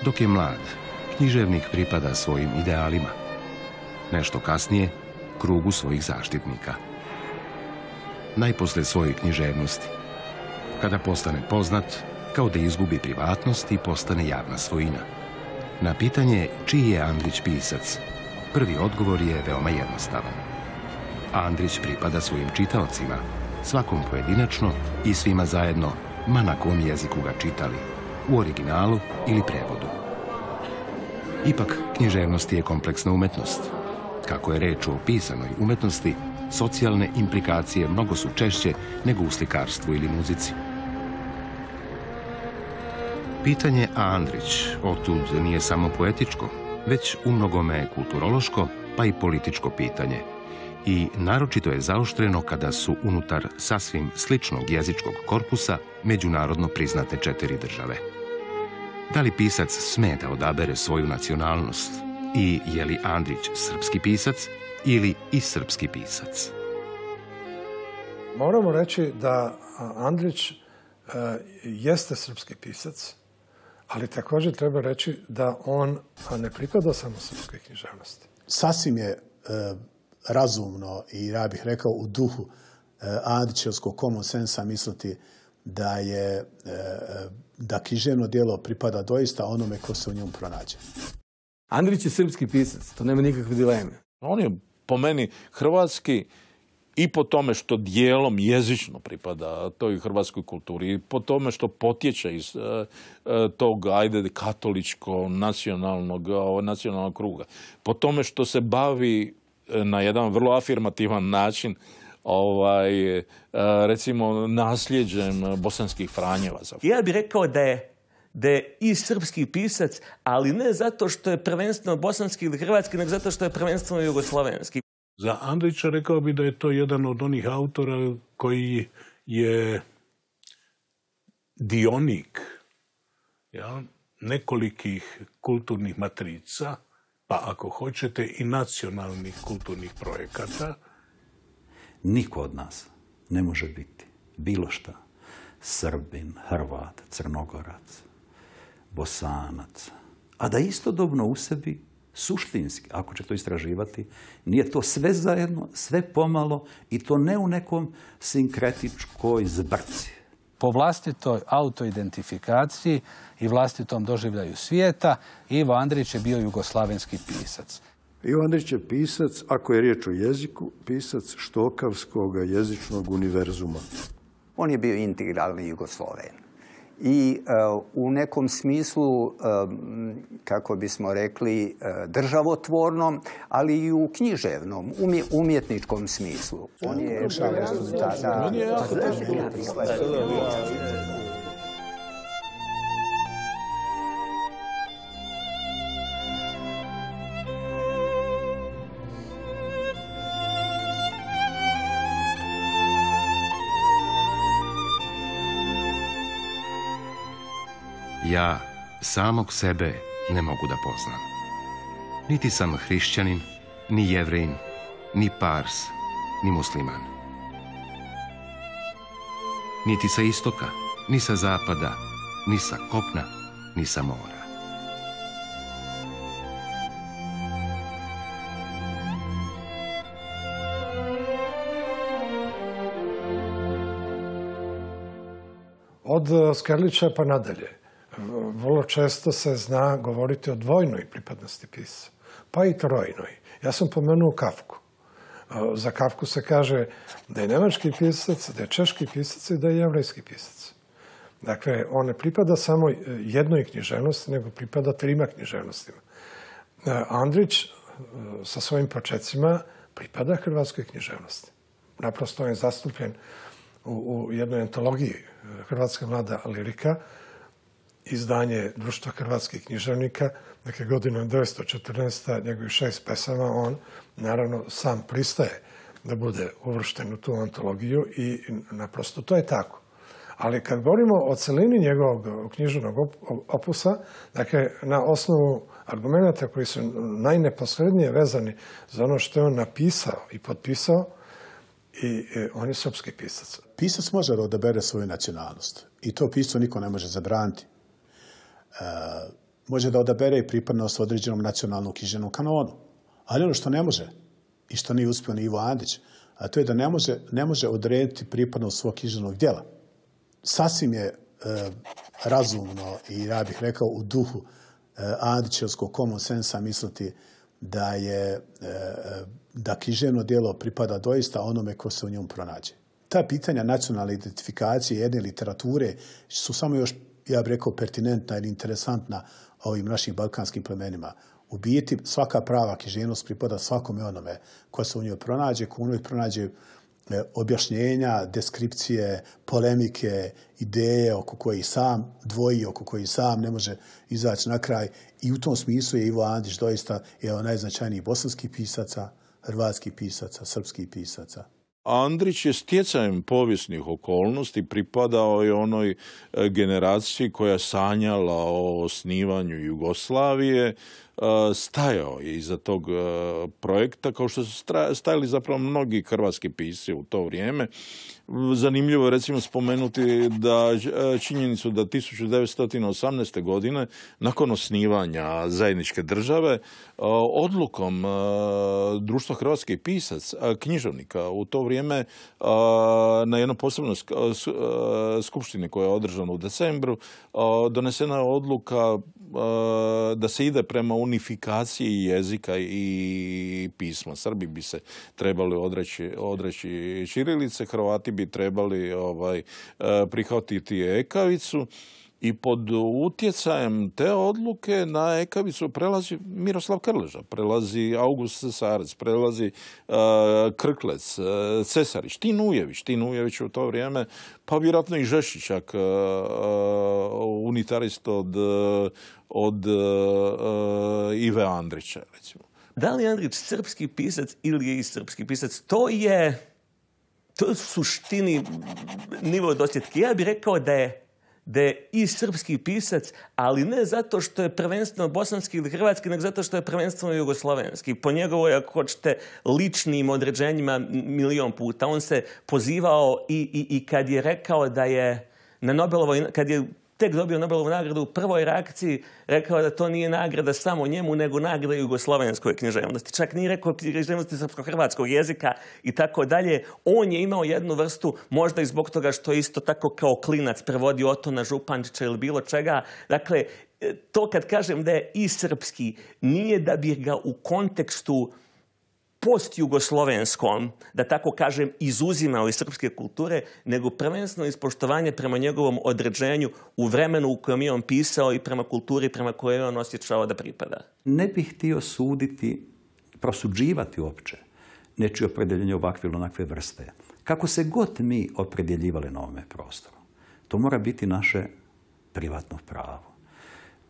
Dok je mlad, književnik pripada svojim idealima. Nešto kasnije, krugu svojih zaštitnika. Najposlije svojoj književnosti. Kada postane poznat, kao da izgubi privatnost i postane javna svojina. Na pitanje čiji je Andrić pisac, prvi odgovor je veoma jednostavan. Andrić pripada svojim čitaocima, svakom pojedinačno i svima zajedno, ma na kom jeziku ga čitali, u originalu ili prevodu. Ipak, književnost je kompleksna umetnost. Kako je reč o pisanoj umetnosti, socijalne implikacije mnogo su češće nego u slikarstvu ili muzici. Pitanje Andrić otud nije samo poetičko, već u mnogome kulturološko, pa i političko pitanje. I naročito je zaoštreno kada su unutar sasvim sličnog jezičkog korpusa međunarodno priznate 4 države. Da li pisac sme da odabere svoju nacionalnost? I je li Andrić srpski pisac ili i srpski pisac? Moramo reći da Andrić jeste srpski pisac, ali također treba reći da on ne pripada samo srpskoj književnosti. Sasvim je razumno i ja bih rekao u duhu Andrićevskog common sensa misliti da književno djelo pripada doista onome ko se u njemu pronađe. Andrić je srpski pisac, to nema nikakve dileme. On je po meni hrvatski i po tome što dijelom jezično pripada toj hrvatskoj kulturi, i po tome što potječe iz tog, katoličko-nacionalnog kruga. Po tome što se bavi na jedan vrlo afirmativan način recimo nasljeđem bosanskih Franjevaca. Ja bih rekao da je i srpski pisac, ali ne zato što je prvenstveno bosanski ili hrvatski, nego zato što je prvenstveno jugoslovenski. Za Andrića rekao bi da je to jedan od onih autora koji je dionik nekolikih kulturnih matrica, pa ako hoćete i nacionalnih kulturnih projekata. Niko od nas ne može biti bilo šta. Srbin, Hrvat, Crnogorac, Bosanac, a da istodobno u sebi suštinski, ako će to istraživati, nije to sve zajedno, sve pomalo i to ne u nekom sinkretičkoj zbrci. Po vlastitoj autoidentifikaciji i vlastitom doživljaju svijeta, Ivo Andrić je bio jugoslavenski pisac. Ivo Andrić je pisac, ako je riječ o jeziku, pisac štokavskog jezičnog univerzuma. On je bio integralni Jugosloven. I u nekom smislu, kako bismo rekli, državotvornom, ali i u književnom, umjetničkom smislu. On je Ja samog sebe ne mogu da poznam. Niti sam hrišćanin, ni jevrejin, ni pars, ni musliman. Niti sa istoka, ni sa zapada, ni sa kopna, ni sa mora. Od Skerlića pa nadalje. Vrlo često se zna govoriti o dvojnoj pripadnosti pisca, pa i trojnoj. Ja sam pomenuo Kafku. Za Kafku se kaže da je nemački pisac, da je češki pisac i da je jevrejski pisac. Dakle, on ne pripada samo jednoj književnosti, nego pripada 3 književnostima. Andrić sa svojim počecima pripada hrvatskoj književnosti. Naprosto on je zastupljen u jednoj antologiji Hrvatska mlada lirika, izdanje Društva hrvatskih književnika, dakle godina 1914. njegovih 6 pesama, on naravno sam pristaje da bude uvršten u tu antologiju i naprosto to je tako. Ali kad govorimo o celini njegovog književnog opusa, dakle na osnovu argumenta koji su najneposrednije vezani za ono što je on napisao i potpisao, i on je srpski pisac. Pisac može da odabere svoju nacionalnost i to piscu niko ne može zabraniti. može da odabere i pripadnost određenom nacionalnom književnom kanonu. Ali ono što ne može, i što nije uspio ni Ivo Andrić, a to je da ne može odrediti pripadnost svog književnog djela. Sasvim je razumno i ja bih rekao u duhu Andrićevskog common sensa misliti da književno djelo pripada doista onome ko se u njemu pronađe. Ta pitanja nacionalne identifikacije jedne literature su samo još, ja bih rekao, pertinentna ili interesantna ovim našim balkanskim plemenima. U biti svaka prava književnost pripada svakome onome ko se u njoj pronađe, ko u njoj pronađe objašnjenja, deskripcije, polemike, ideje oko kojih sam dvoji, oko kojih sam ne može izaći na kraj. I u tom smislu je Ivo Andrić doista jedan od najznačajnijih bosanskih pisaca, hrvatskih pisaca, srpskih pisaca. Andrić je stjecajem povijesnih okolnosti pripadao i onoj generaciji koja je sanjala o osnivanju Jugoslavije, stajao je iza tog projekta, kao što su stajali zapravo mnogi hrvatski pisci u to vrijeme. Zanimljivo je recimo spomenuti da činjenicu da 1918. godine, nakon osnivanja zajedničke države, odlukom Društva hrvatskih pisaca, književnika u to vrijeme na jednoj posebnoj skupštini koja je održana u decembru, donesena je odluka da se ide prema unifikaciji jezika i pisma. Srbi bi se trebali odreći ćirilice, Hrvati bi trebali prihvatiti ekavicu i pod utjecajem te odluke na ekavicu prelazi Miroslav Krleža, prelazi August Cesarac, prelazi Krklec, Cesarić, Tinujević u to vrijeme, pa vjerojatno i Žešićak, unitarist od Ive Andrića, recimo. Da li je Andrić srpski pisac ili je i srpski pisac? To je u suštini nivo dosjetke. Ja bih rekao da je i srpski pisac, ali ne zato što je prvenstveno bosanski ili hrvatski, nego zato što je prvenstveno jugoslovenski. Po njegovoj, ako hoćete, ličnim određenjima milion puta. On se pozivao i kad je rekao da je na Nobelovoj, kad je tek dobio Nobelovu nagradu u prvoj reakciji, rekao da to nije nagrada samo njemu, nego nagrada jugoslovenskoj književnosti. Čak nije rekao književnosti srpsko-hrvatskog jezika i tako dalje. On je imao jednu vrstu, možda i zbog toga što je isto tako kao klinac prevodio Otona Župančića ili bilo čega. Dakle, to kad kažem da je i srpski, nije da bi ga u kontekstu post-jugoslovenskom, da tako kažem, izuzimao iz srpske kulture, nego prvenstveno ispoštovanje prema njegovom određenju u vremenu u kojem je on pisao i prema kulturi prema kojoj je on osjećao da pripada. Ne bih htio suditi, prosuđivati uopće nečije opredjeljenje ovakve ili onakve vrste. Kako se god mi opredjeljivali na ovome prostoru, to mora biti naše privatno pravo.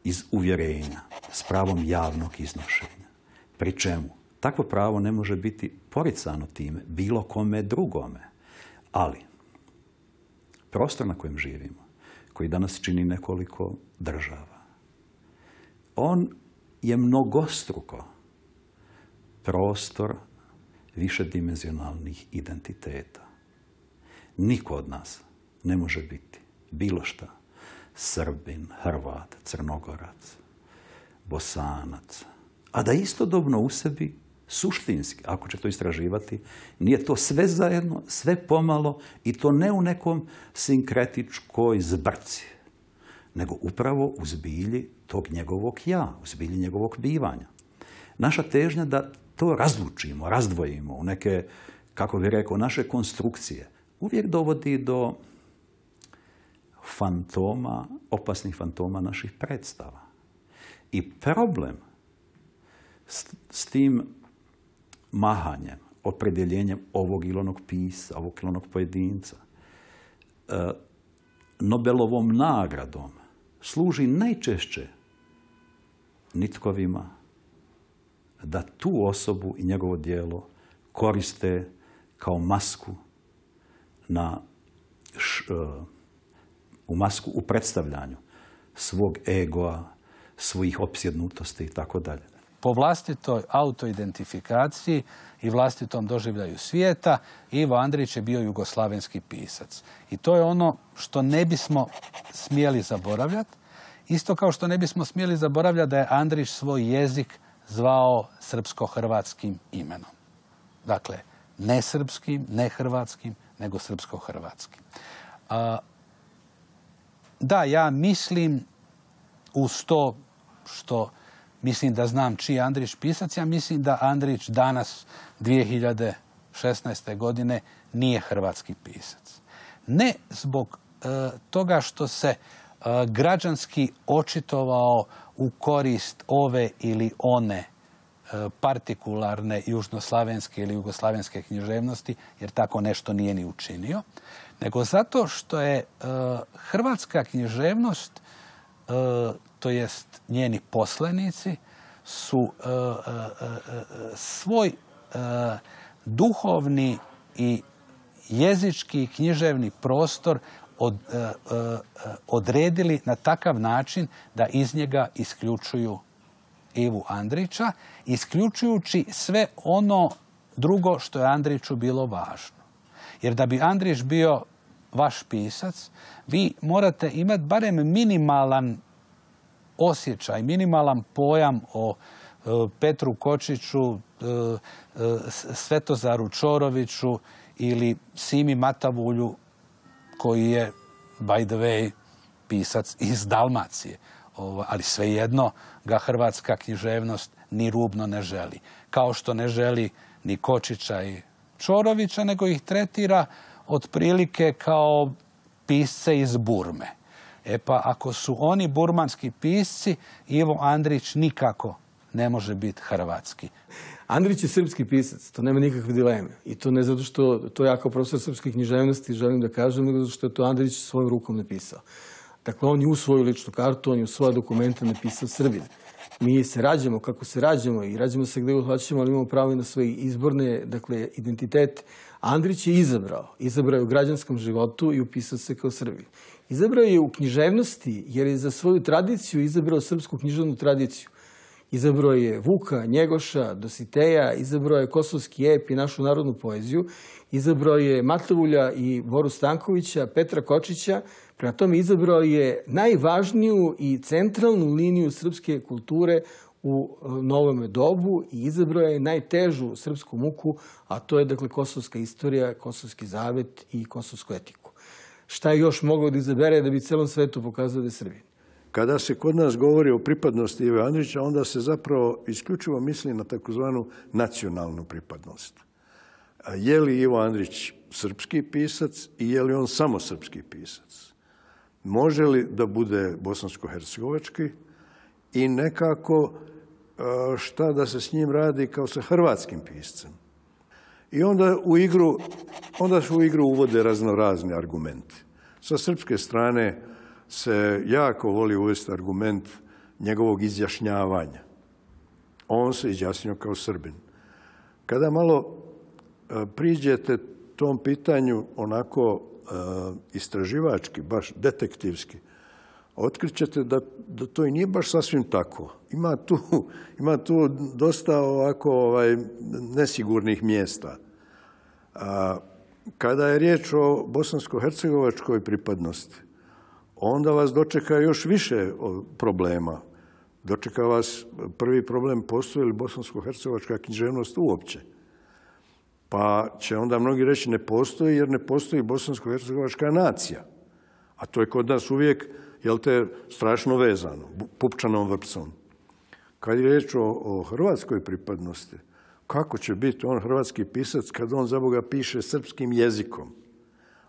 Iz uvjerenja, s pravom javnog iznošenja. Pri čemu takvo pravo ne može biti poricano time bilo kome drugome. Ali prostor na kojem živimo, koji danas čini nekoliko država, on je mnogostruko prostor višedimenzionalnih identiteta. Niko od nas ne može biti bilo šta Srbin, Hrvat, Crnogorac, Bosanac, a da istodobno u sebi suštinski, ako će to istraživati, nije to sve zajedno, sve pomalo i to ne u nekom sinkretičkoj zbrci, nego upravo u zbilji tog njegovog ja, u zbilji njegovog bivanja. Naša težnja da to razlučimo, razdvojimo u neke, kako bih rekao, naše konstrukcije, uvijek dovodi do fantoma, opasnih fantoma naših predstava. I problem s tim mahanjem, opredjeljenjem ovog ili onog pisa, ovog ili onog pojedinca, Nobelovom nagradom služi najčešće nitkovima da tu osobu i njegovo djelo koriste kao masku u predstavljanju svog egoa, svojih opsjednutosti i tako dalje. Po vlastitoj autoidentifikaciji i vlastitom doživljaju svijeta, Ivo Andrić je bio jugoslavenski pisac. I to je ono što ne bismo smjeli zaboravljati Isto kao što ne bismo smjeli zaboravljati da je Andrić svoj jezik zvao srpsko-hrvatskim imenom. Dakle, ne srpskim, ne hrvatskim, nego srpsko-hrvatskim. Da, ja mislim, uz to što mislim da znam čiji je Andrić pisac, ja mislim da Andrić danas, 2016. godine, nije hrvatski pisac. Ne zbog toga što se građanski očitovao u korist ove ili one partikularne južnoslavenske ili jugoslavenske književnosti, jer tako nešto nije ni učinio, nego zato što je hrvatska književnost, to jest njeni poslanici, su svoj duhovni i jezički književni prostor odredili na takav način da iz njega isključuju Ivu Andrića, isključujući sve ono drugo što je Andriću bilo važno. Jer da bi Andrić bio vaš pisac, vi morate imati barem minimalan osjećaj, minimalan pojam o Petru Kočiću, Svetozaru Čoroviću ili Simi Matavulju, koji je, by the way, pisac iz Dalmacije. Ali svejedno ga hrvatska književnost ni rubno ne želi. Kao što ne želi ni Kočića i Čorovića, nego ih tretira otprilike kao pisce iz Burme. E pa ako su oni burmanski pisci, Ivo Andrić nikako ne može biti hrvatski. Andrić je srpski pisac, to nema nikakve dileme. I to ne zato što to ja kao profesor srpske književnosti želim da kažem, nego zato što je to Andrić svojom rukom napisao. Dakle, on je u svoju ličnu kartu, on je u svoje dokumente napisao Srbin. Mi se rađamo kako se rađamo i rađamo se gdje hoćemo, ali imamo pravo i na svoje izborne, dakle, identitete. Andrić je izabrao je u građanskom životu i upisao se kao Srbin. Izabrao je u književnosti jer je za svoju tradiciju izabrao srpsku književnu tradiciju. Izabrao je Vuka, Njegoša, Dositeja, izabrao je kosovski ep i našu narodnu poeziju, izabrao je Matavulja i Boru Stankovića, Petra Kočića, prema tome izabrao je najvažniju i centralnu liniju srpske kulture u novome dobu i izabrao je najtežu srpsku muku, a to je dakle kosovska istorija, kosovski zavet i kosovsku etiku. Šta je još mogao da izabere da bi celom svetu pokazao da je Srbin? Kada se kod nas govori o pripadnosti Ive Andrića, onda se zapravo isključivo misli na takozvanu nacionalnu pripadnost. Je li Ivo Andrić srpski pisac i je li on samo srpski pisac? Može li da bude bosansko-hercegovački i nekako šta da se s njim radi kao sa hrvatskim piscem? I onda se u igru uvode raznorazni argumenti. Sa srpske strane se jako voli uvesti argument njegovog izjašnjavanja. On se izjasnio kao Srbin. Kada malo priđete tom pitanju onako istraživački, baš detektivski, otkrićete da to i nije baš sasvim tako. Ima tu dosta ovako nesigurnih mjesta. Kada je riječ o bosansko-hercegovačkoj pripadnosti, onda vas dočeka još više problema. Dočeka vas prvi problem, postoji li bosansko-hercegovačka književnost uopće? Pa će onda mnogi reći ne postoji jer ne postoji bosansko-hercegovačka nacija. A to je kod nas uvijek, jel te, strašno vezano, pupčanom vrpcom. Kad je riječ o hrvatskoj pripadnosti, kako će biti on hrvatski pisac kad on za Boga piše srpskim jezikom?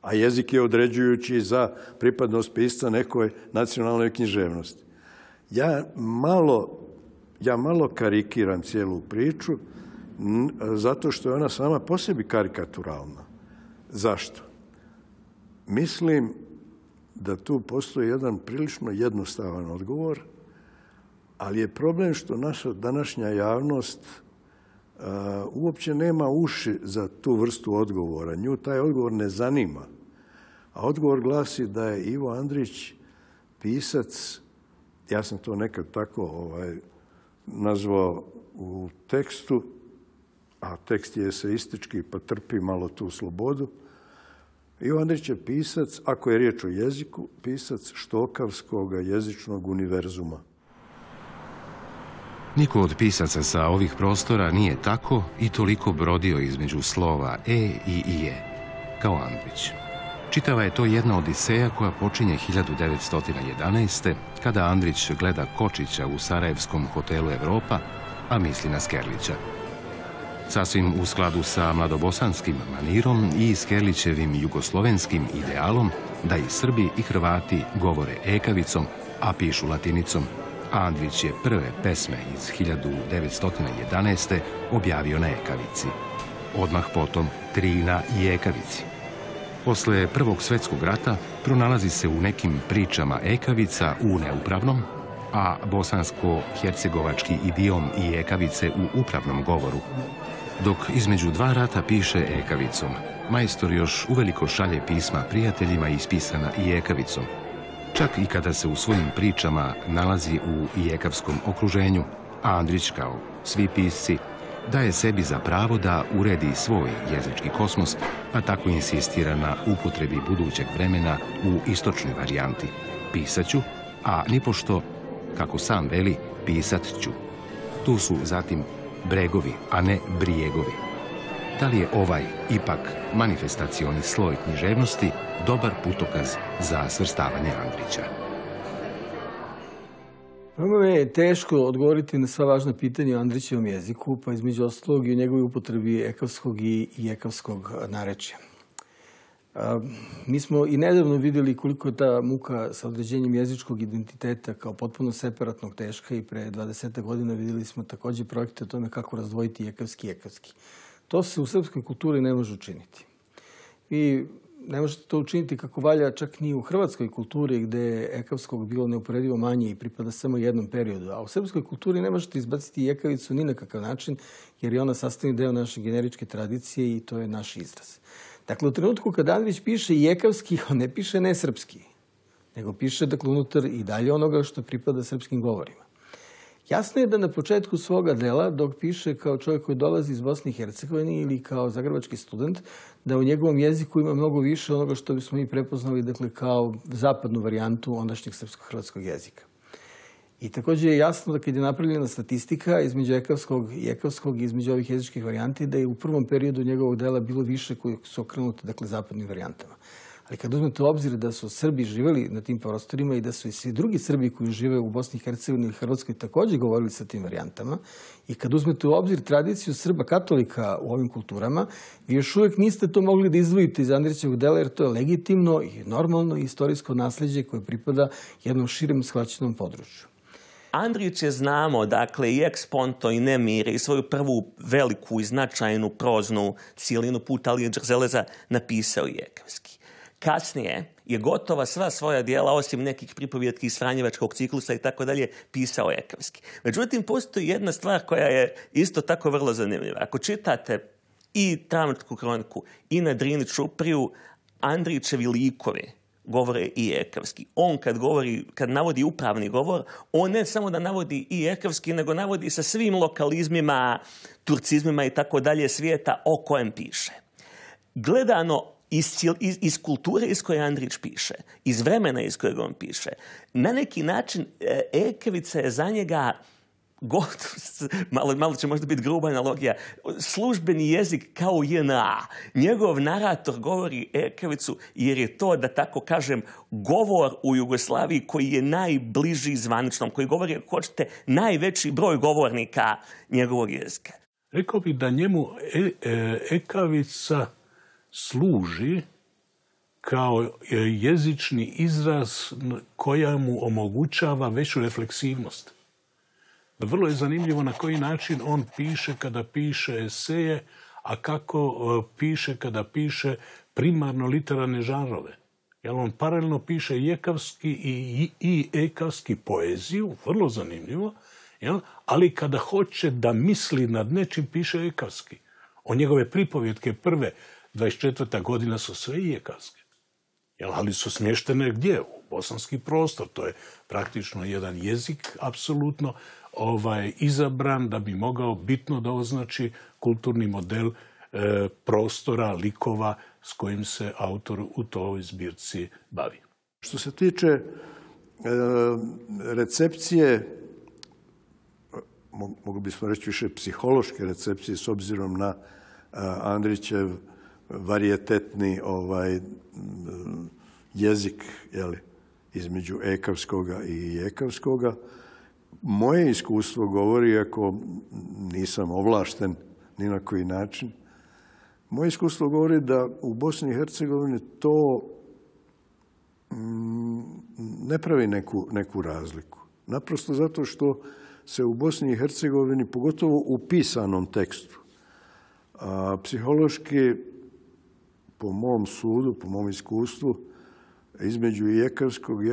A jezik je određujući za pripadnost pisca nekoj nacionalnoj književnosti. Ja malo karikiram cijelu priču zato što je ona sama po sebi karikaturalna. Zašto? Mislim da tu postoji jedan prilično jednostavan odgovor, ali je problem što naša današnja javnost uopće nema uši za tu vrstu odgovora. Nju taj odgovor ne zanima. A odgovor glasi da je Ivo Andrić pisac, ja sam to nekad tako nazvao u tekstu, a tekst je eseistički pa trpi malo tu slobodu. Ivo Andrić je pisac, ako je riječ o jeziku, pisac štokavskog jezičnog univerzuma. Niko od pisaca sa ovih prostora nije tako i toliko brodio između slova E i IE, kao Andrić. Čitava je to jedna odiseja koja počinje 1911. kada Andrić gleda Kočića u sarajevskom hotelu Evropa, a misli na Skerlića. Sasvim u skladu sa mladobosanskim manirom i Skerlićevim jugoslovenskim idealom da i Srbi i Hrvati govore ekavicom, a pišu latinicom, Andrić je prve pesme iz 1911. objavio na ekavici. Odmah potom 3 na i ekavici. Posle Prvog svjetskog rata pronalazi se u nekim pričama ekavica u neupravnom, a bosansko-hercegovački idiom i ekavice u upravnom govoru. Dok između 2 rata piše ekavicom, majstor još uveliko šalje pisma prijateljima ispisana i ekavicom. Čak i kada se u svojim pričama nalazi u ijekavskom okruženju, a Andrić, kao svi pisci, daje sebi za pravo da uredi svoj jezički kosmos, pa tako insistira na upotrebi budućeg vremena u istočnoj varijanti. Pisat ću, a nipošto, kako sam veli, pisat ću. Tu su zatim bregovi, a ne brijegovi. Da li je ovaj, ipak, manifestacioni sloj književnosti dobar putokaz za svrstavanje Andrića? Veoma je teško odgovoriti na sva važna pitanja o Andrićevom jeziku, pa između ostalog i o njegovoj upotrebi ekavskog i ekavskog narečja. Mi smo i nedavno vidjeli koliko je ta muka sa određenjem jezičkog identiteta kao potpuno separatnog teška i pre 20 godina vidjeli smo također projekte o tome kako razdvojiti ekavski i ekavski. To se u srpskoj kulturi ne može učiniti. I ne možete to učiniti kako valja čak ni u hrvatskoj kulturi gdje je ekavskog bilo neuporedivo manje i pripada samo jednom periodu. A u srpskoj kulturi ne možete izbaciti ekavicu ni na kakav način jer je ona sastavni deo naše generičke tradicije i to je naš izraz. Dakle, u trenutku kada Andrić piše i ekavski, on ne piše nesrpski, nego piše dakle unutar i dalje onoga što pripada srpskim govorima. Jasno je da na početku svoga dela, dok piše kao čovjek koji dolazi iz Bosne i Hercegovine ili kao zagrebački student, da u njegovom jeziku ima mnogo više onoga što bismo mi prepoznali dakle, kao zapadnu varijantu ondašnjeg srpsko-hrvatskog jezika. I također je jasno da kad je napravljena statistika između ekavskog i ekavskog i između ovih jezičkih varijanti, da je u prvom periodu njegovog dela bilo više koji su okrenuti dakle, zapadnim varijantama. Ali kad uzmete u obzir da su Srbi živjeli na tim prostorima i da su i svi drugi Srbi koji žive u Bosni i Hercegovini i Hrvatskoj također govorili sa tim varijantama i kad uzmete u obzir tradiciju Srba katolika u ovim kulturama, vi još uvijek niste to mogli da izdvojite iz Andrićevog dela jer to je legitimno i normalno istorijsko nasljeđe koje pripada jednom širem shvaćenom području. Andrić je, znamo, dakle, i Eksponto i Nemire i svoju prvu veliku i značajnu proznu cijelinu Put Alije Đerzeleza napisao i ekavski. Kasnije je gotova sva svoja dijela, osim nekih pripovjetki iz Franjevačkog ciklusa i tako dalje, pisao ekavski. Međutim, postoji jedna stvar koja je isto tako vrlo zanimljiva. Ako čitate i Travničku kroniku i na Drini Čupriju, Andrićevi likovi govore i ekavski. On kad navodi upravni govor, on ne samo da navodi i ekavski, nego navodi sa svim lokalizmima, turcizmima i tako dalje svijeta o kojem piše. Gledano iz kulture iz koje Andrić piše, iz vremena iz kojeg on piše, na neki način ekavica je za njega malo će možda biti gruba analogija, službeni jezik kao JNA. Njegov narator govori ekavicu jer je to, da tako kažem, govor u Jugoslaviji koji je najbliži zvaničnom, koji govori, ako hoćete, najveći broj govornika njegovog jezika. Rekao bih da njemu ekavica služi kao jezični izraz koja mu omogućava veću refleksivnost. Vrlo je zanimljivo na koji način on piše kada piše eseje, a kako piše kada piše primarno literarne žanrove. Jer on paralelno piše i ekavski i ekavski poeziju, vrlo zanimljivo, ali kada hoće da misli nad nečim, piše ekavski. O njegove pripovjetke prve 24. godina su sve i ekavske. Ali su smještene gdje? U bosanski prostor. To je praktično jedan jezik, apsolutno izabran da bi mogao bitno da označi kulturni model prostora, likova s kojim se autor u toj zbirci bavi. Što se tiče recepcije, mogli bismo reći više psihološke recepcije s obzirom na Andrićev varijetetni jezik između ekavskoga i ekavskoga. Moje iskustvo govori, ako nisam ovlašten ni na koji način, moje iskustvo govori da u Bosni i Hercegovini to ne pravi neku razliku. Naprosto zato što se u Bosni i Hercegovini, pogotovo u pisanom tekstu, psihološki, po mom sudu, po mom iskustvu, između i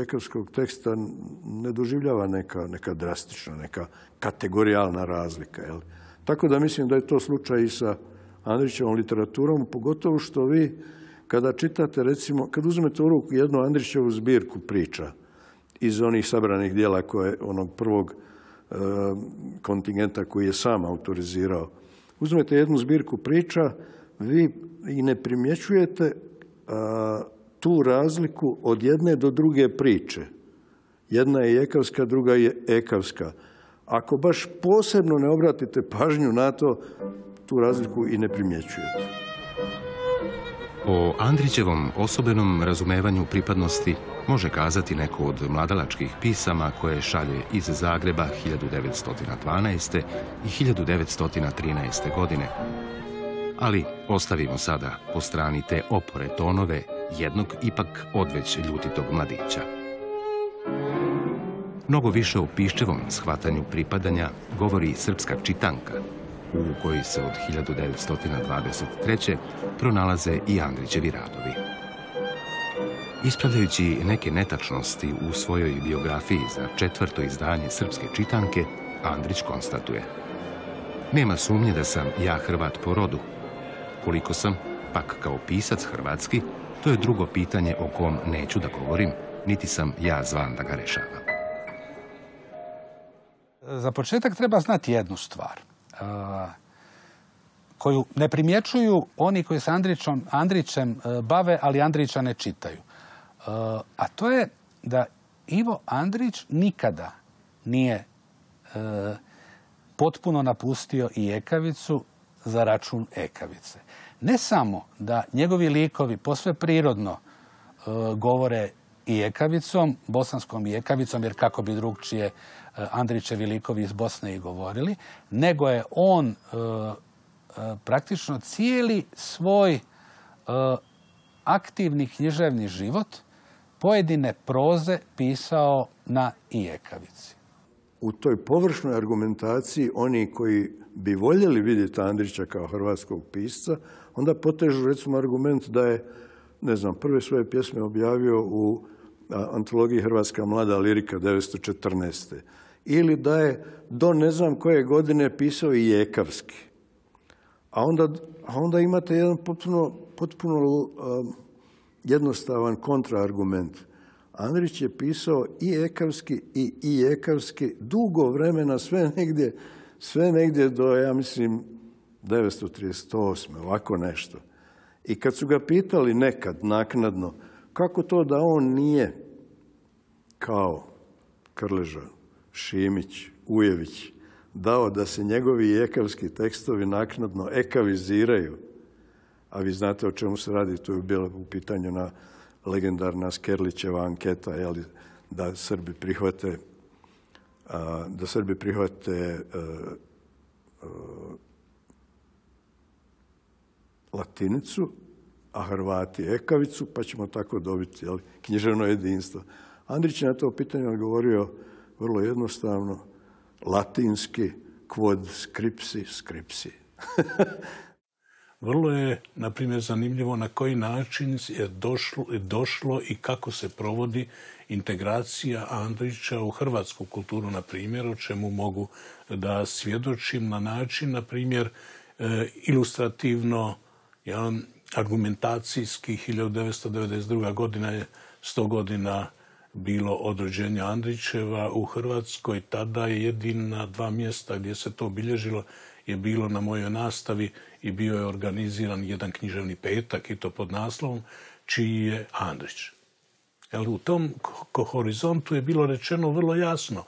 ekavskog teksta ne doživljava neka drastična, neka kategorijalna razlika. Jel? Tako da mislim da je to slučaj i sa Andrićevom literaturom, pogotovo što vi kada čitate, recimo, kad uzmete u ruku jednu Andrićevu zbirku priča iz onih sabranih dijela onog prvog kontingenta koji je sam autorizirao, uzmete jednu zbirku priča, vi i ne primjećujete tu razliku od jedne do druge priče. Jedna je ekavska, druga je ekavska. Ako baš posebno ne obratite pažnju na to, tu razliku i ne primjećujete. O Andrićevom osobenom razumevanju pripadnosti može kazati neko od mladalačkih pisama koje šalje iz Zagreba 1912. i 1913. godine. Ali ostavimo sada po strani te opore tonove jednog ipak odveć ljutitog mladića. Mnogo više o Piščevom shvatanju pripadanja govori Srpska čitanka, u kojoj se od 1923. pronalaze i Andrićevi radovi. Ispravljajući neke netačnosti u svojoj biografiji za 4. izdanje Srpske čitanke, Andrić konstatuje: nema sumnje da sam ja Hrvat po rodu. Koliko sam, pak kao pisac hrvatski, to je drugo pitanje o kom neću da govorim, niti sam ja zvan da ga rešavam. Za početak treba znati jednu stvar koju ne primjećuju oni koji se Andrićem bave, ali Andrića ne čitaju. A to je da Ivo Andrić nikada nije potpuno napustio i ekavicu za račun ekavice. Ne samo da njegovi likovi posve prirodno govore i ekavicom, bosanskom i ekavicom, jer kako bi drugčije Andrićevi likovi iz Bosne i govorili, nego je on praktično cijeli svoj aktivni književni život pojedine proze pisao na i ekavici. U toj površnoj argumentaciji oni koji bi voljeli vidjeti Andrića kao hrvatskog pisca, onda potežu recimo argument da je, ne znam, prve svoje pjesme objavio u antologiji Hrvatska mlada lirika 1914. Ili da je do ne znam koje godine pisao i ekavski. A onda imate jedan potpuno jednostavan kontraargument. Andrić je pisao i ekavski i ekavski dugo vremena, sve negdje do, ja mislim, 1938. ovako nešto. I kad su ga pitali nekad, naknadno, kako to da on nije kao Krleža, Šimić, Ujević dao da se njegovi ekavski tekstovi naknadno ekaviziraju, a vi znate o čemu se radi, to je bilo u pitanju na legendarna Skerlićeva anketa, da Srbi prihvate latinicu, a Hrvati ekavicu, pa ćemo tako dobiti književno jedinstvo. Andrić je na to pitanje odgovorio vrlo jednostavno: latinski, quod scripsi, scripsi. Vrlo je, na primjer, zanimljivo na koji način je došlo i kako se provodi integracija Andrića u hrvatsku kulturu, na primjer, o čemu mogu da svjedočim na način, na primjer, ilustrativno, argumentacijski. 1992. godina je 100 godina bilo od rođenja Andrićeva u Hrvatskoj. Tada je jedina 2 mjesta gdje se to obilježilo je bilo na mojoj nastavi i bio je organiziran jedan književni petak i to pod naslovom Čiji je Andrić. U tom horizontu je bilo rečeno vrlo jasno,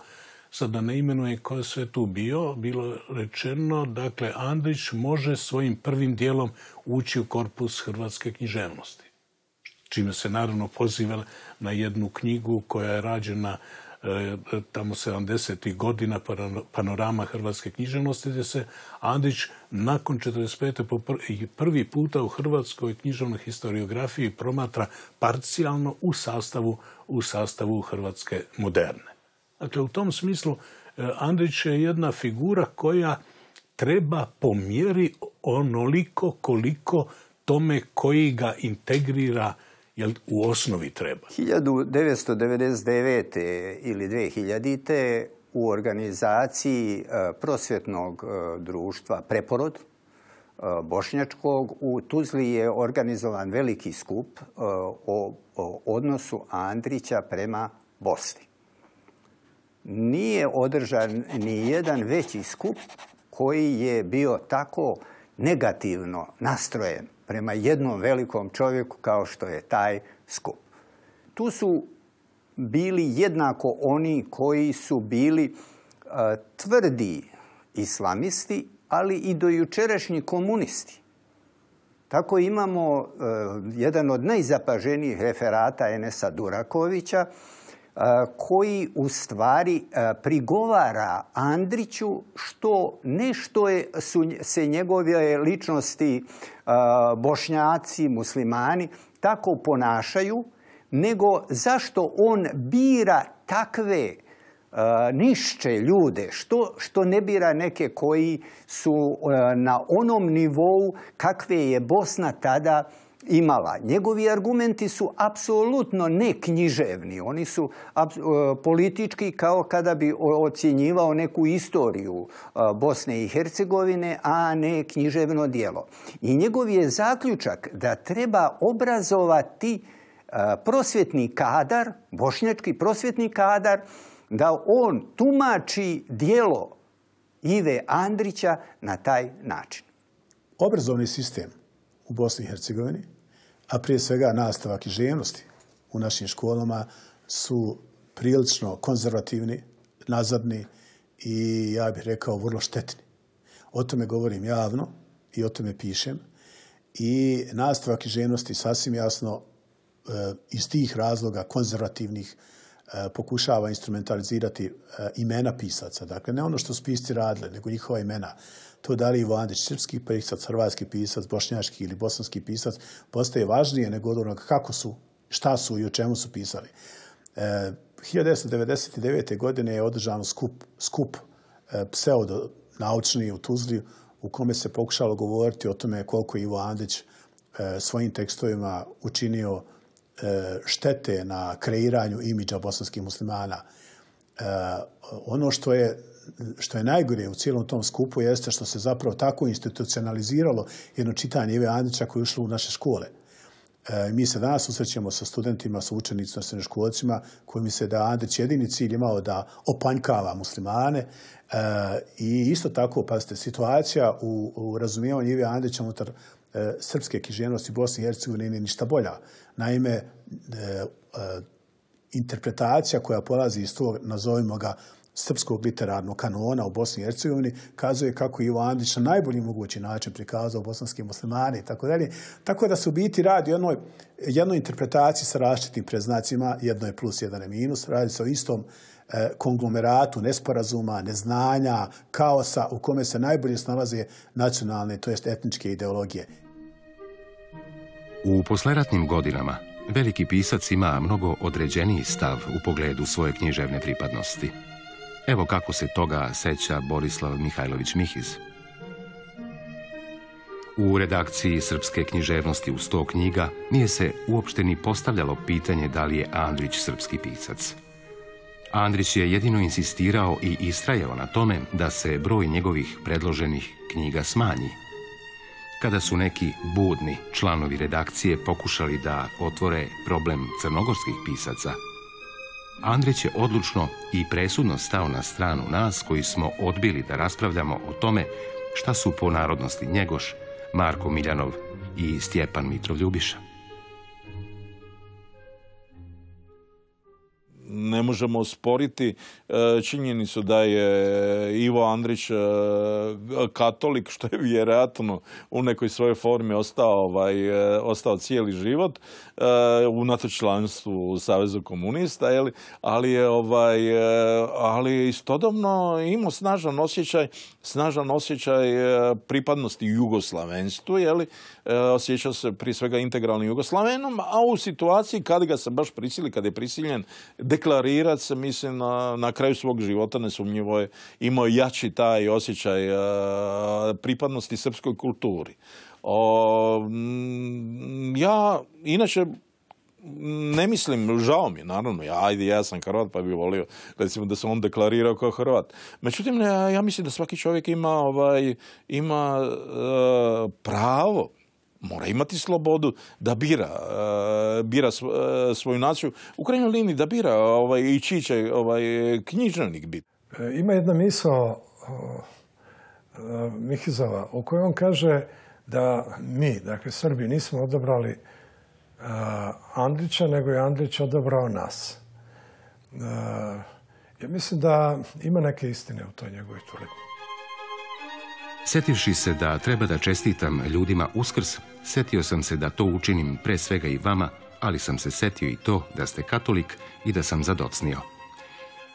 sad da ne imenuje ko je sve tu bio, bilo rečeno, dakle, Andrić može svojim prvim dijelom ući u korpus hrvatske književnosti. Čime se naravno poziva na jednu knjigu koja je rađena tamo 70. godina, Panorama hrvatske književnosti, gdje se Andrić nakon 1945. prvi puta u hrvatskoj književnoj historiografiji promatra parcijalno u sastavu hrvatske moderne. Dakle, u tom smislu Andrić je jedna figura koja treba po mjeri onoliko koliko tome koji ga integrira, jer u osnovi treba. 1999. ili 2000. u organizaciji prosvjetnog društva Preporod bošnjačkog u Tuzli je organizovan veliki skup o odnosu Andrića prema Bosni. Nije održan ni jedan veći skup koji je bio tako negativno nastrojen prema jednom velikom čovjeku kao što je taj skup. Tu su bili jednako oni koji su bili tvrdi islamisti, ali i dojučerašnji komunisti. Tako imamo jedan od najzapaženijih referata Enesa Durakovića, koji u stvari prigovara Andriću što su se njegove ličnosti Bošnjaci, muslimani tako ponašaju, nego zašto on bira takve nišće ljude, što ne bira neke koji su na onom nivou kakve je Bosna tada imala. Njegovi argumenti su apsolutno neknjiževni. Oni su politički kao kada bi ocjenjivao neku istoriju Bosne i Hercegovine, a ne književno djelo. I njegov je zaključak da treba obrazovati prosvjetni kadar, bošnjački prosvjetni kadar, da on tumači djelo Ive Andrića na taj način. Obrazovni sistem u Bosni i Hercegovini, a prije svega nastava književnosti u našim školama su prilično konzervativni, nazadni i, ja bih rekao, vrlo štetni. O tome govorim javno i o tome pišem. I nastava književnosti sasvim jasno iz tih razloga konzervativnih pokušava instrumentalizirati imena pisaca. Dakle, ne ono što su pisci radili, nego njihova imena. To da li Ivo Andrić srpski pisac, hrvatski pisac, bošnjački ili bosanski pisac postaje važnije nego od onoga kako su, šta su i o čemu su pisali. 1999. godine je održan skup pseudonaučni u Tuzli u kome se pokušalo govoriti o tome koliko Ivo Andrić svojim tekstovima učinio štete na kreiranju imidža bosanskih muslimana. Ono što je najgore u cijelom tom skupu jeste što se zapravo tako institucionaliziralo jedno čitanje Ive Andrića koje je ušlo u naše škole. Mi se danas susrećemo sa studentima, sa učenicima, sa srednjoškolcima koji misle da Andrić jedini cilj imao da opanjkava muslimane i isto tako, pazite, situacija u razumijevanju Ive Andrića unutar srpske književnosti Bosne i Hercegovine nije ništa bolja. Naime, interpretacija koja polazi iz tog, nazovimo ga, srpskog literarnog kanona u Bosni i Hercegovini kazuje kako Ivo Andrić na najbolji mogući način prikazao bosanske muslimane i tako dalje. Tako da se u biti radi o jednoj interpretaciji sa različitim predznacima, jedno je plus, jedan je minus, radi se o istom konglomeratu nesporazuma, neznanja, kaosa u kome se najbolje snalaze nacionalne, to jest etničke ideologije. U posleratnim godinama veliki pisac ima mnogo određeniji stav u pogledu svoje književne pripadnosti. Evo kako se toga seća Borislav Mihajlović Mihiz. U redakciji Srpske književnosti u 100 knjiga nije se uopšte ni postavljalo pitanje da li je Andrić srpski pisac. Andrić je jedino insistirao i istrajao na tome da se broj njegovih predloženih knjiga smanji. Kada su neki budni članovi redakcije pokušali da otvore problem crnogorskih pisaca, Andrić je odlučno i presudno stao na stranu nas koji smo odbili da raspravljamo o tome šta su po narodnosti Njegoš, Marko Miljanov i Stjepan Mitrov Ljubiša. Ne možemo osporiti činjenicu da je Ivo Andrić katolik, što je vjerojatno u nekoj svojoj formi ostao cijeli život, unatoč članstvu u Savezu komunista, ali je istodobno imao snažan osjećaj pripadnosti jugoslavenstvu, osjećao se prije svega integralnim Jugoslavenom, a u situaciji kad ga se baš prisili, kad je prisiljen deklarirati se, mislim, na kraju svog života nesumnjivo je imao jači taj osjećaj pripadnosti srpskoj kulturi. Ja, inače, ne mislim, žao mi je, naravno, ja sam Hrvat pa bih volio recimo da se on deklarirao kao Hrvat. Međutim, ja mislim da svaki čovjek ima pravo, mora imati slobodu da bira svoju naciju. U krajnjoj liniji da bira i čiji će književnik biti. Ima jedna misao Mihizova u kojoj on kaže da mi, dakle Srbi, nismo odabrali Andrića, nego je Andrić odabrao nas. Ja mislim da ima neke istine u toj njegovoj tvrdnji. Sjetivši se da treba da čestitam ljudima Uskrs, setio sam se da to učinim pre svega i vama, ali sam se setio i to da ste katolik i da sam zadocnio.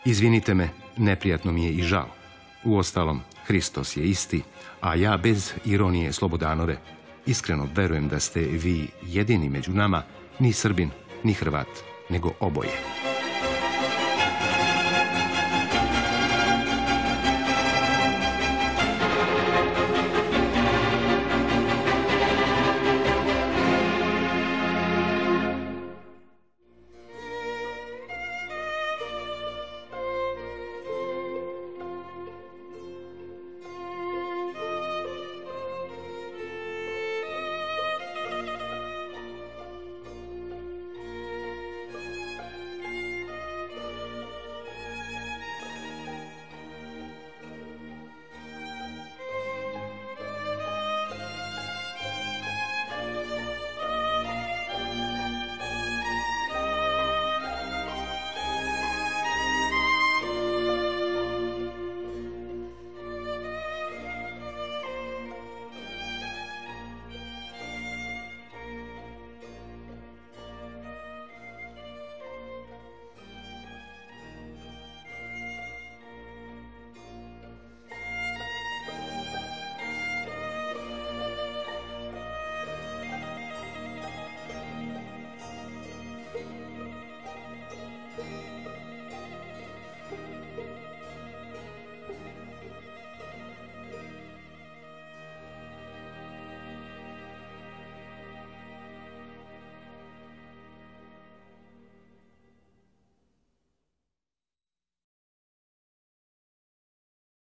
Izvinite me, neprijatno mi je i žao. Uostalom, Hristos je isti, a ja bez ironije Slobodanove iskreno verujem da ste vi jedini među nama, ni Srbin, ni Hrvat, nego oboje.